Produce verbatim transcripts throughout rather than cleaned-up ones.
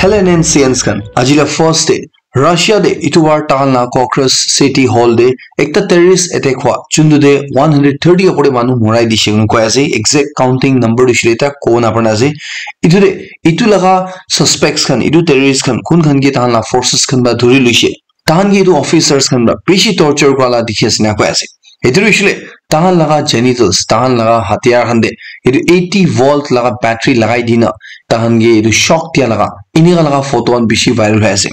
Hello N N C Ns khan, aji la first day Russia de itu war tahan la Congress City Hall de ekta terrorist attack hua chundu de one hundred thirty opor de manu morai dishe koina koi ase. Exact counting number tu shile ta ko na parna ase. Itu de itu laga suspects khan, itu terrorist khan, kun khan ke tahan la forces khan ba dhuri luishe. Tahan ke itu officers khan ba bishi torture kura la dikhi ase na koi ase. Itu tu shile tahan laga genitals, tahan laga hatiyar khan de itu eighty volt laga battery lagai dina tahan ke itu shock dia laga inika laga photo khan bishi viral hoi ase.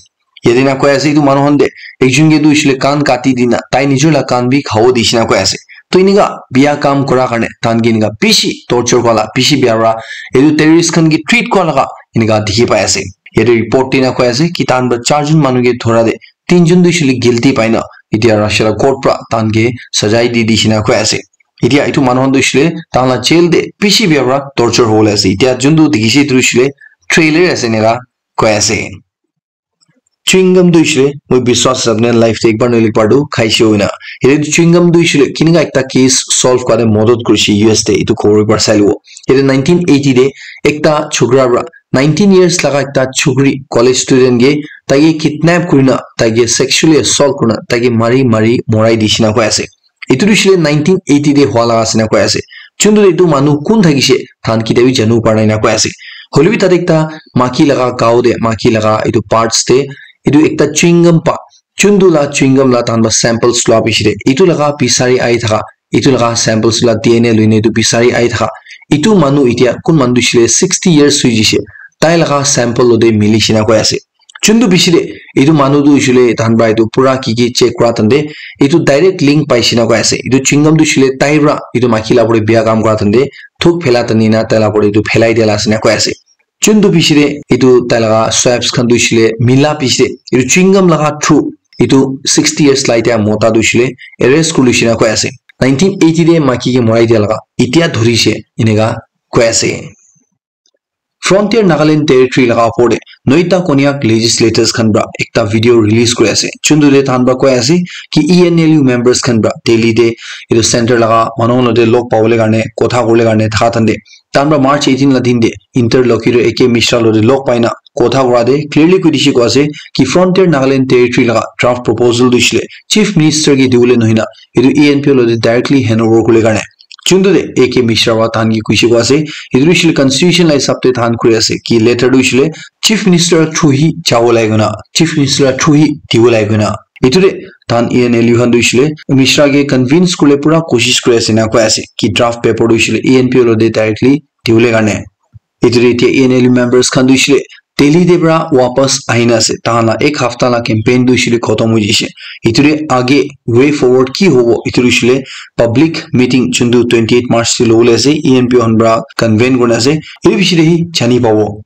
Yate na koi ase itu manu khan de ekjun ke tu shile kan kati dina tai nijor la kan bi khabo dishina koi ase. To inika biya kam kura karne tahan ke inika bishi torture kura la bishi biya ra itu terrorist khan ke treat kura laga inika dikhi pai ase. Yate report dina koi ase ki tahan ba charjun manu ke dhora de tinjun tu shile guilty paina itia Russia la court pra tahan ke sajai di dishina koi ase. Itia itu manu khan tu shile tahan la jail de bishi biya pra torture hobole ase. Itia juntu dikhishe itu shile trailer ase nela koi ase. Chewing gum tu shile moi biswas ase apni life te ekbar noile ekbar tu khaishe hoina. Ede chewing gum tu shile kinika ekta case solve kare modot kurishe U S te itu khobor ekbar sai luwo. Ede nineteen eighty de ekta chukra pra nineteen years laga ekta chukri college student ke taike kidnap kurina taike sexually assault kurina taike mari mari morai dishina koi ase. Itu tu shile nineteen eighty de hua laga ase na koi ase. Chuntu de itu manu kun thakishe than kita bi janu parna ina koi ase. Hoilebi tate ekta maki laga gao de maki laga itu parts de itu ekta chewing gum pa chuntu la chewing gum la tahan ba samples lua bishi de itu laga bisari ai thaka itu laga samples la D N A luine itu bisari ai thaka itu manu itia kun manu tu shile sixty years sui jishe tai laga sample lo de mili shina koi ase. Chuntu bishi de itu manu tu shile tahan ba itu pura ki ki check kura tande itu direct link pai shina koi ase. Itu chewing gum tu shile tai pra itu maki la pore biya kam kura tande thuk phela tani na tai la pore itu phelai dia la ase na koi ase. Chuntu bishi de itu tai laga swabs khan tu shile mila bishi de itu chewing gum laga through itu sixty years lai dia mota tu shile arrest kuri shina koi ase. Nineteen eighty de maki ke morai dia laga itia dhurishe inika koi ase. Frontier Nagaland Territory laga opor de noita Konyak legislators khan pra ekta video release kuri ase. Chuntu de tahan pra koi ase ki E N L U members khan pra Delhi de itu center laga manu khan lote log pabole karne kotha kurle karne thaka tande tahan pra March eighteen la din de interlocutor A K Mishra lote log paina kotha kura de clearly koi dishe koi ase ki Frontier Nagaland Territory laga draft proposal tu shile Chief Minister ke diwole nohina itu E N P O lote directly hand over kurle karne. Chuntu de A K Mishra wa tahan ki kuishe koi ase itu tu shile constitution la hisab te tahan kuri ase ki letter tu shile Chief Minister through hi jabo lage na Chief Minister through hi dibo lage na itu de tahan E N L U khan tu shile Mishra ke convince kurle pura koshish kuri ase na koi ase ki draft paper tu shile E N P O lote directly diwole karne. Itu de itia E N L U members khan tu shile Delhi de pra wapas ahina ase. Tahan la ek hafta la campaign tu shile khotom hoi jishe. Itu de age way forward ki hobo itu tu shile public meeting chuntu twenty eight March te lobole ase E N P O khan pra convene kurna ase. Itu bishi de hi jani pabo.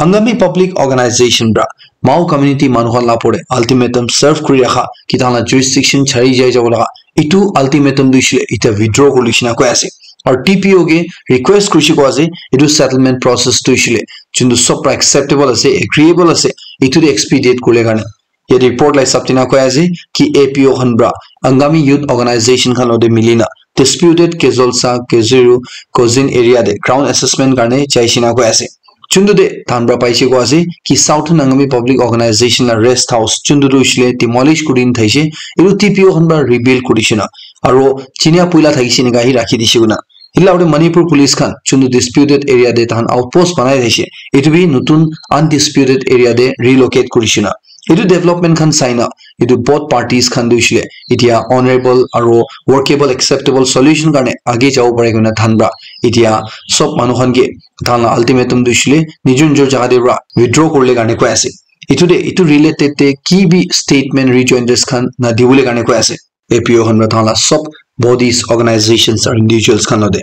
Angami Public Organization pra Mao community manu khan la pore ultimatum serve kuri rakha ki tahan la jurisdiction chari jai jabo laga itu ultimatum tu shile ita withdraw kuri shina koi ase. Aru T P O ke request kurishe koi ase itu settlement process tu shile chuntu sob pra acceptable ase, agreeable ase itu de expedite kurle karne. Yate report la hisab tina koi ase ki A P O khan pra Angami Youth Organization khan lote milina disputed Kezolsa, Keziru, Kozin area de ground assessment karne jai shina koi ase. Chuntu de tahan pra paishe koi ase ki Southern Angami Public Organization la rest house chuntu tu shile demolish kuri na thaishe itu T P O khan pra rebuild kuri shina aro chinia puila thakishe nika hi rakhi dishe kuna. Hila ure Manipur police khan chuntu disputed area de tahan outpost banai thaishe itu bi nutun undisputed area de relocate kuri shina. Itu development khan saina itu both parties khan tu shile itia honorable aro workable acceptable solution karne age jabo pare koina tahan pra itia sob manu khan ke tahan la ultimatum tu shile nijor nijor jaga de pra withdraw kurle karne koi ase. Itu de itu related te ki bi statement rejoinders khan na dibole karne koi ase. A P O khan pra tahan la sob bodies, organizations aru individuals khan lote.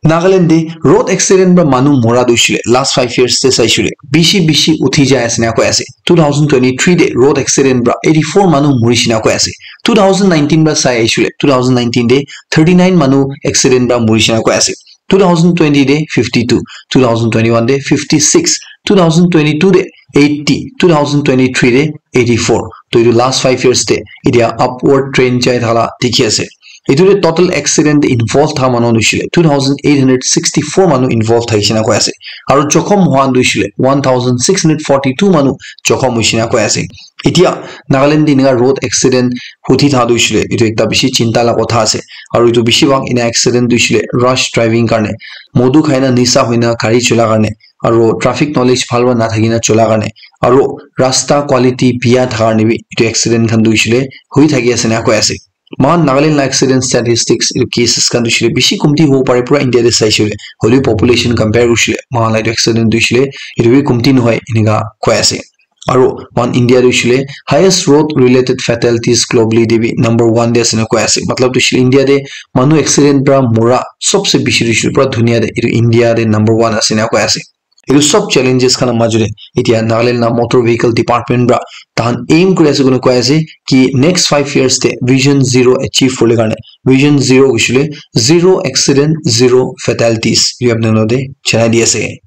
Nagaland de road accident pra manu mora tu shile last five years te sai shile bishi bishi uthi jai ase na koi ase. Two thousand twenty-three de road accident pra eighty-four manu mori shina koi ase. Two thousand nineteen pra sai shile two thousand nineteen de thirty-nine manu accident pra mori shina koi ase. Two thousand twenty de fifty-two, two thousand twenty-one de fifty-six, two thousand twenty-two de eighty, two thousand twenty-three de eighty-four. To itu last five years de itia upward trend jai thala dikhi ase. Etu te total accident te involve thaka manu hoishe le two thousand eight hundred sixty-four manu involve thakishe na koi ase. Aru jokhom hua tu hoishe le one thousand six hundred forty-two manu jokhom hoishe na koi ase. Etia Nagaland te enika road accident huthi thaka tu hoishe le etu ekta bishi chinta la kotha ase. Aru etu bishi bhag ena accident tu hoishe le rush driving karne, modu khaina nisa hoina gari chola karne, aru traffic knowledge bhal para nathakina chola karne, aru rasta quality biya thaka karne bi etu accident khan tu hoishe le hui thaki ase na koi ase. Mohan Nagaland la accident statistics etu cases khan tu hoishe le bishi kumti hobo pare pura India te saishe le, hoilebi population compare kurishe le mohan la etu accident tu hoishe le etu bi kumti nohoi enika koi ase. Aru mohan India tu hoishe le highest road related fatalities globally te bi number one te ase na koi ase. Matlab tu hoishe le India te manu accident para mora sobse bishi tu hoishe le pura dunia te etu India te number one ase na koi ase. Etu sob challenges khan la majo te etia Nagaland la motor vehicle department para tahan aim kuri ase koina koi ase ki next five years te vision zero achieve kuribole karne, vision zero hoishe le zero accident, zero fatalities etu apni khan te janai di ase.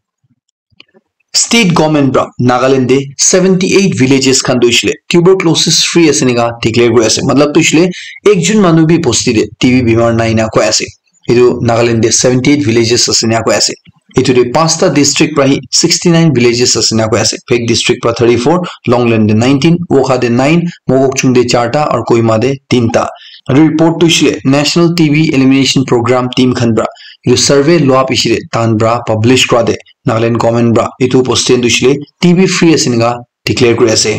State government para Nagaland te seventy eight villages khan tu hoishe le tuberculosis free ase enika declare kuri ase. Matlab tu hoishe le ekjon manu bi bosti te T B bimar nai na koi ase. Etu Nagaland te seventy eight villages ase enika koi ase. Etu te pasta district para hi sixty nine villages ase enika koi ase. Phek district para thirty four, Longleng te nineteen, Wokha te nine, Mokokchung te charta aru Kohima te tinta. Aru report tu hoishe le National T B Elimination Program team khan para etu survey lua piche te tahan para publish kura te Nagaland government para etu bosti tu hoishe le T B free ase enika declare kuri ase.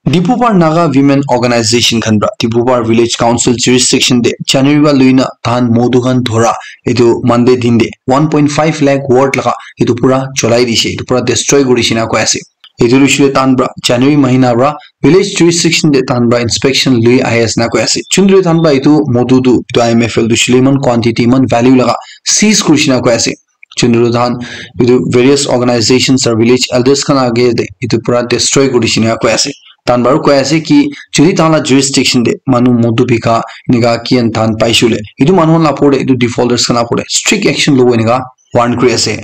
Dipupar Naga Women Organization khan para Dipupar Village Council jurisdiction te January para loina tahan modu khan dhora etu Monday din te one point five lakh worth laga etu pura cholai dishe, etu pura destroy kuri dishe na koi ase. Etu hoishe le tahan para January mahina para village jurisdiction te tahan para inspection lui ahi ase na koi ase. Chundri tahan para etu modu tu etu I M F L tu hoishe le iman quantity iman value laga seize kuri dishe na koi ase. Chundru tahan etu various organizations or village elders khan age te etu pura destroy kuri dishe enika koi ase. Tahan para koi ase ki jodi tahan la jurisdiction te manu modu bika enika kian tahan paishe le etu manu khan la opor te etu defaulters khan la opor te strict action lobo enika warn kuri ase.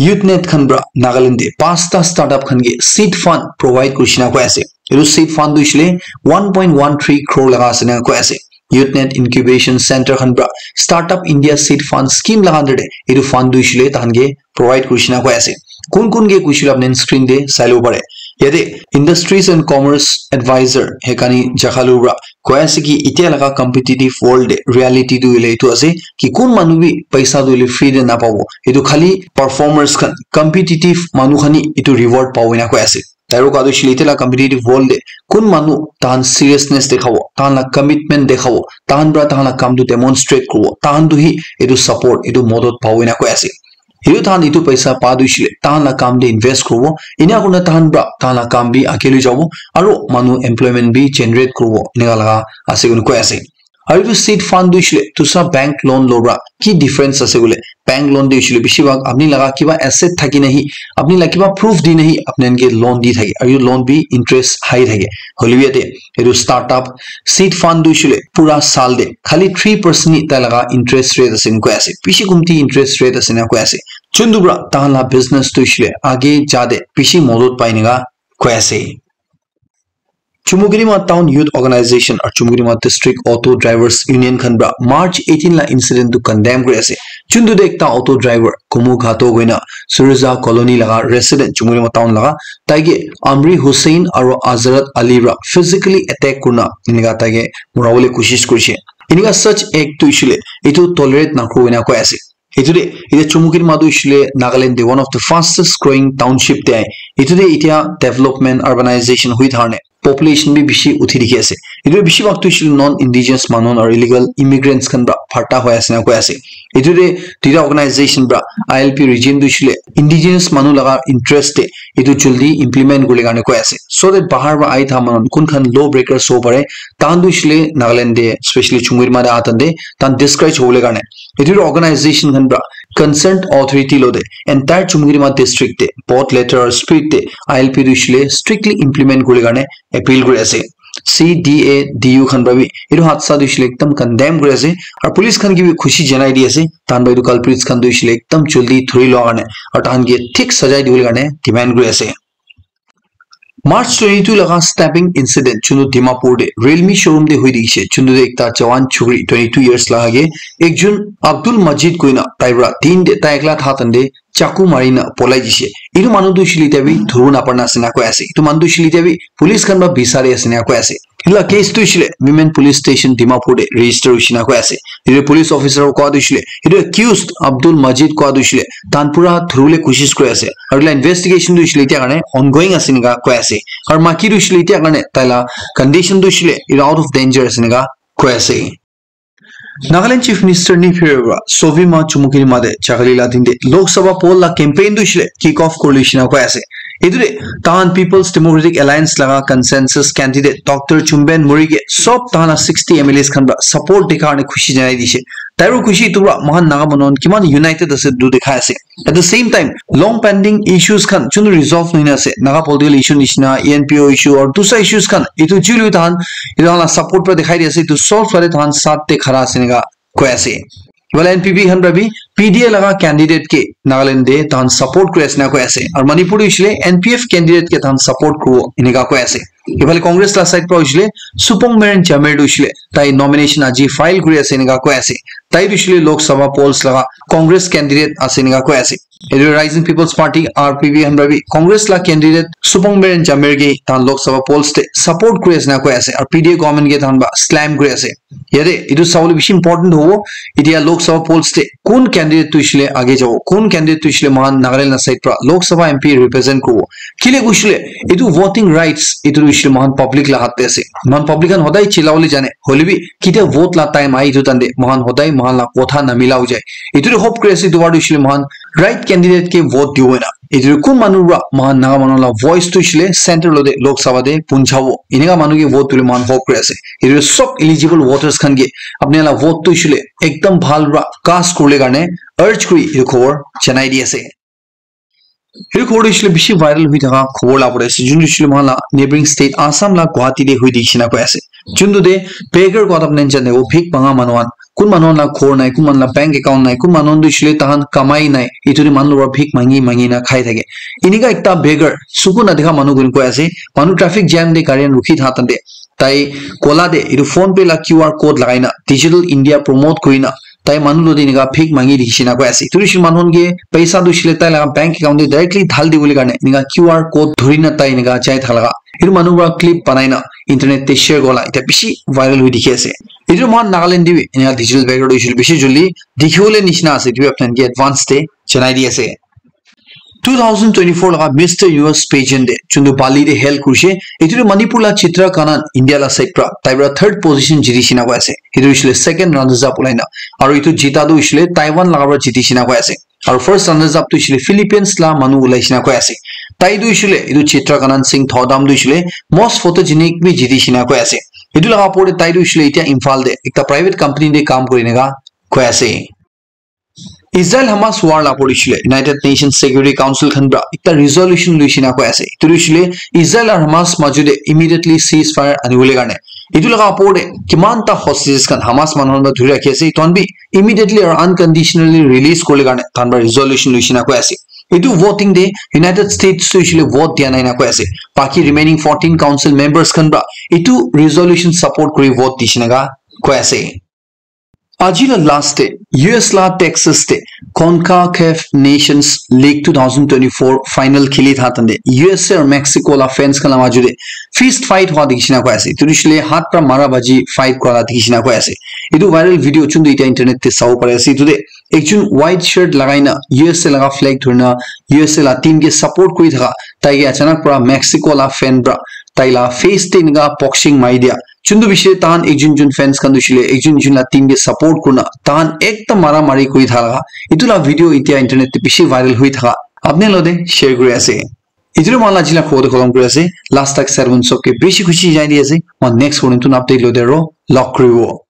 Youth Net khan para Nagaland te pasta startup khan ke seed fund provide kuri dishe na koi ase. Etu seed fund tu hoishe le one point one three crore laga ase enika koi ase. Youth Net Incubation Center khan para Startup India Seed Fund Scheme laga under te etu fund tu hoishe le tahan ke provide kuri dishe na koi ase. Kun kun ke koi dishe le apni screen te sai lobo pare. Yate Industries and Commerce Advisor Hekani Jakhalu para koi ase ki etia laga competitive world te reality tu hoile etu ase ki kun manu bi paisa tu hoile free te napabo. Etu khali performers khan, competitive manu khan hi etu reward pabo enika koi ase. Tai para koi tu hoishe le etia la competitive world te kun manu tahan seriousness dekhabo, tahan la commitment dekhabo, tahan para tahan la kam tu demonstrate kuribo, tahan tu hi etu support, etu modot pabo enika koi ase. Etu tahan etu paisa pa tu hoishe le tahan la kam te invest kuribo, enika kurina tahan para tahan la kam bi age loi jabo, aru manu employment bi generate kuribo, enika laga ase koina koi ase. Aru etu seed fund tu hoishe le dusra bank loan lowa para ki difference ase koile, bank loan tu hoishe le bishi bhag apni laga kiba asset thaki na hi, apni laga kiba proof di na hi apni khan ke loan di thake, aru etu loan bi interest high thake. Hoile bi yate etu startup seed fund tu hoishe le pura saal te khali three percent hi tai laga interest rate ase enika koi ase, bishi kumti interest rate ase enika koi ase. Chundru para tahan la business tu hoishe le age ja te bishi modot pai enika koi ase. Chumukedima Town Youth Organization aru Chumukedima District Auto Drivers Union khan para March eighteen la incident tu condemn kuri ase. Chundru te ekta auto driver Kumu Ghato koina Suruja Colony laga resident Chumukedima Town laga, tai ke Amri Hussain aru Azrat Ali para physically attack kurina enika tai ke murabole koshish kurishe. Enika such act tu hoishe le etu tolerate nakuribo enika koi ase. Etu te etia Chumukedima tu hoishe le Nagaland te one of the fastest growing township te ahe. Etu te etia development, urbanization hoi thakane population bi bishi uthi dikhi ase. Etu bishi bhag tu hoishe le non indigenous manu aru illegal immigrants khan para bharta hoi ase enika koi ase. Etu te duita organization para I L P regime tu hoishe le indigenous manu laga interest te etu jaldi implement kuribole karne koi ase, so that bahar para ahi thaka manu kun khan law breakers hobo pare, tahan tu hoishe le Nagaland te, especially Chumukedima te aha time te tahan discourage hobole karne etu organization khan para concerned authority lo te entire Chumukedima district te both letter aru spirit te I L P tu hoishe le strictly implement kuribole karne appeal kuri ase. C D A D U khan para bi etu hadsa tu hoishe le ekdam condemn kuri ase, aru police khan ke bi khushi janai di ase, tahan para etu culprits khan tu hoishe le ekdam jaldi dhuri lowa karne aru tahan ke thik sajai dibole karne demand kuri ase. March twenty-two laga stabbing incident chunu Dimapur de Realme showroom de hui dikishe. Chunu de ekta jawan chukri twenty-two years laga ke ekjun Abdul Majid koina tai para din de tai ekla tha tan de chaku mari na polai dishe. Itu manu tu shili tabi thuru na parna asina koi ase. Itu manu tu shili tabi police khan ba bisari asina koi ase. Ila case tu shile Women Police Station Dimapur de register ushina koi ase. Itu police officer ko tu shile, itu accused Abdul Majid ko tu shile, tan pura thurule kushish koi ase. Aru la investigation tu shile tia karne ongoing asina koi ase. Aru maki tu shile tia karne taila condition tu shile, itu out of danger asina koi ase. Nagaland Chief Minister ni phirwa Sovima Chumukiri made chagali la dinde Lok Sabha poll la campaign tu shile kick off kurle shina koi ase. Itu de tahan People's Democratic Alliance laga consensus candidate Doctor Chumben Murige sob tahan sixty M L As khan ba support dikha ne khushi janai dishe. Tairu khushi itu ba mahan Naga manon kiman united ase du dikha ase. At the same time, long pending issues khan chunu resolve nohina ase. Naga political issue nishina, E N P O issue or dusra issues khan itu chulu tahan itu la support pra dikhai di ase. Itu solve kare tahan sat te khara ase nika koi ase. Wala N P P khan pra bi P D A laga candidate ke Nagaland de tahan support kuri ase na koi ase. Aru Manipur de hoishile N P F candidate ke tahan support kuribo enika koi ase. Ifale Congress la side pra hoishile Supong Meren Jamir tu hoishile tai nomination aji file kuri ase enika koi ase. Tai tu hoishile Lok Sabha polls laga Congress candidate ase enika koi ase. Etu Rising People's Party, R P P, khan para bi Congress la candidate Supong Meren Jamir ke tahan Lok Sabha polls te support kuri ase na koi ase, aru P D A government ke tahan ba slam kuri ase. Yate etu sabole bishi important hobo, etia Lok Sabha polls te kun candidate tu hoishile age jabo, kun candidate tu hoishile mohan Nagaland la side pra Lok Sabha M P represent kuribo. Kile koishile etu voting rights etu tu hoishile mohan public la hath te ase. Mohan public khan hodai chilabole jane, hoile bi ketia vote la time ahi etu tante mohan hodai mohan la kotha namila hoi jai. Etu tu hope kuri ase, etu baar tu hoishile mohan right candidate ke vote dibo na. Etu kun manu pra mohan Naga manu la voice tu hoishile center lo de Lok Sabha de punchabo. Enika manu ke vote dile mohan hope kuri ase. Etu sob eligible voters khan ke apni la vote tu hoishile ekdam bhal pra cast kurle karne urge kuri etu khobor janai di ase. Etu khobor tu hoishile bishi viral hui thaka khobor la pore ase. Jun tu hoishile mohan la neighboring state Assam la Guwahati de hui dikhi na koi ase. Juntu de beggar kotha apni jane, wo bhik manga manu khan, kun manu khan la ghor nai, kun manu la bank account nai, kun manu khan tu hoishile tahan kamai nai, etu de manu para bhik mangi mangi na khai thake. Enika ekta beggar, suku na dikha manu khan koi ase, manu traffic jam de gari khan rukhi tha tante, tai kola de etu PhonePe la Q R code lagai na, Digital India promote kuri na, tai manu lo de enika bhik mangi dikhi na koi ase. Etu hoishile manu khan ke paisa tu hoishile tai laga bank account de directly dhal dibole karne enika Q R code dhuri na tai enika jai thaka laga. Etu manu para clip banai na internet te share kura la etia bishi viral hui dikhi ase. Etu mohan Nagaland te bi enika digital beggar tu hoishile bishi joldi dikhi bole nishina ase. Etu bi apni khan ke advance te janai di ase. Two thousand twenty-four laga Mister Universe pageant de juntu Bali de held kurishe. Etu tu Manipur la Chitra Kanan India la side pra tai para third position jiti shina koi ase. Etu hoishile second runners up ulai na. Aru etu jita tu hoishile Taiwan laga para jiti shina koi ase. Aru first runners up tu hoishile Philippines la manu ulai shina koi ase. Tai tu hoishile etu Chitra Kanan Singh Thodam tu hoishile most photogenic bi jiti shina koi ase. Etu laga opor de tai tu hoishile etia Imphal de ekta private company de kam kuri neka koi ase. Israel Hamas war la opor de hoishile United Nations Security Council khan para ekta resolution lui shina koi ase. Etu tu hoishile Israel aru Hamas majo de immediately ceasefire ani bole karne. Etu laga opor de kiman ta hostages khan Hamas manu khan para dhuri rakhi ase. Etu khan bi immediately aru unconditionally release kurle karne tahan para resolution lui shina koi ase. Etu voting de United States tu hoishile vote dia nai na koi ase. Baki remaining fourteen council members khan para etu resolution support kuri vote di shina ka koi ase. Aji la last de U S la Texas de CONCACAF Nations League two thousand twenty-four final kheli tha tande U S A aru Mexico la fans khan la majo de fist fight hua dikhi shina koi ase. Etu tu hoishile hath para mara baji fight kura la dikhi shina koi ase. Etu viral video chun tu etia internet te sabo pare ase. Etu de ekjun white shirt lagai na U S A laga flag dhuri na U S A la team ke support kuri thaka tai ke achanak para Mexico la fan para tai la face te enika boxing mari dia. Chun tu bishi tahan ekjun jun fans khan tu hoishile ekjun ekjun la team ke support kurina tahan ekta mara mari kuri thaka laga etu la video etia internet te bishi viral hui thaka apni lo de share kuri ase. Etu tu mohan la aji la khobor tu khotom kuri ase. Last tak sermon sob ke bishi khushi jai di ase. Mohan next khobor tu update lo de ro log kuri bo.